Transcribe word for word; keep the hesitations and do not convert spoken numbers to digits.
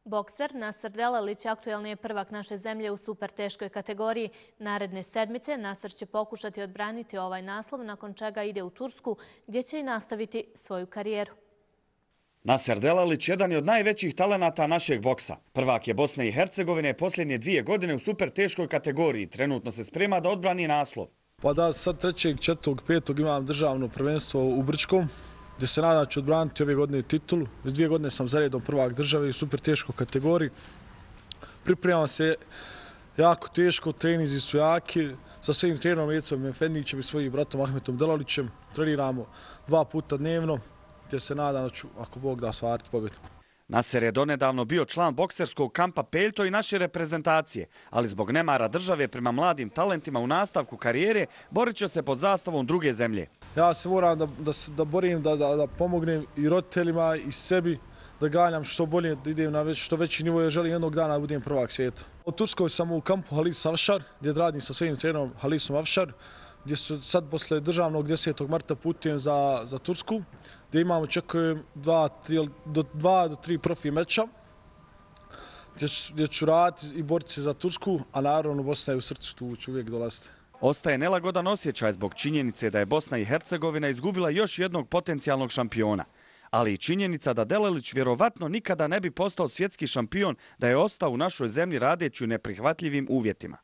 Bokser Nasr Delalić aktuelni je prvak naše zemlje u super teškoj kategoriji. Naredne sedmice Nasr će pokušati odbraniti ovaj naslov, nakon čega ide u Tursku, gdje će i nastaviti svoju karijeru. Nasr Delalić jedan je od najvećih talenata našeg boksa. Prvak je Bosne i Hercegovine posljednje dvije godine u super teškoj kategoriji. Trenutno se sprema da odbrani naslov. Pa da, sad trećeg, četvrtog, petog imam državno prvenstvo u Brčkom, gdje se nadam da ću odbraniti ove godine titulu. Već dvije godine sam zaredom prvak države u super teškoj kategoriji. Pripremam se jako teško, treninzi su jaki. Sa svojim trenerom Ecom Efendićem i svojim bratom Ahmetom Delalićem treniramo dva puta dnevno, gdje se nadam da ću, ako Bog da, ostvariti pobjedu. Nasr je donedavno bio član bokserskog kampa Peljto i naše reprezentacije, ali zbog nemara države prema mladim talentima u nastavku karijere borit će se pod zastavom druge zemlje. Ja se moram da, da, da borim, da, da, da pomognem i roditeljima i sebi, da ganjam što bolje, da idem na već, što veći nivo, jer želim jednog dana da budem prvak svijeta. U Turskoj sam u kampu Halis Afšar, gdje radim sa svojim trenerom Halisom Afšar, gdje su sad posle državnog desetog marta putujem za, za Tursku, gdje imamo, očekujem, dva, tri, do, dva do tri profi meča, gdje, gdje ću raditi i boriti se za Tursku, a naravno Bosna je u srcu, tu ću uvijek dolaziti. Ostaje nelagodan osjećaj zbog činjenice da je Bosna i Hercegovina izgubila još jednog potencijalnog šampiona. Ali i činjenica da Delalić vjerovatno nikada ne bi postao svjetski šampion da je ostao u našoj zemlji radeći u neprihvatljivim uvjetima.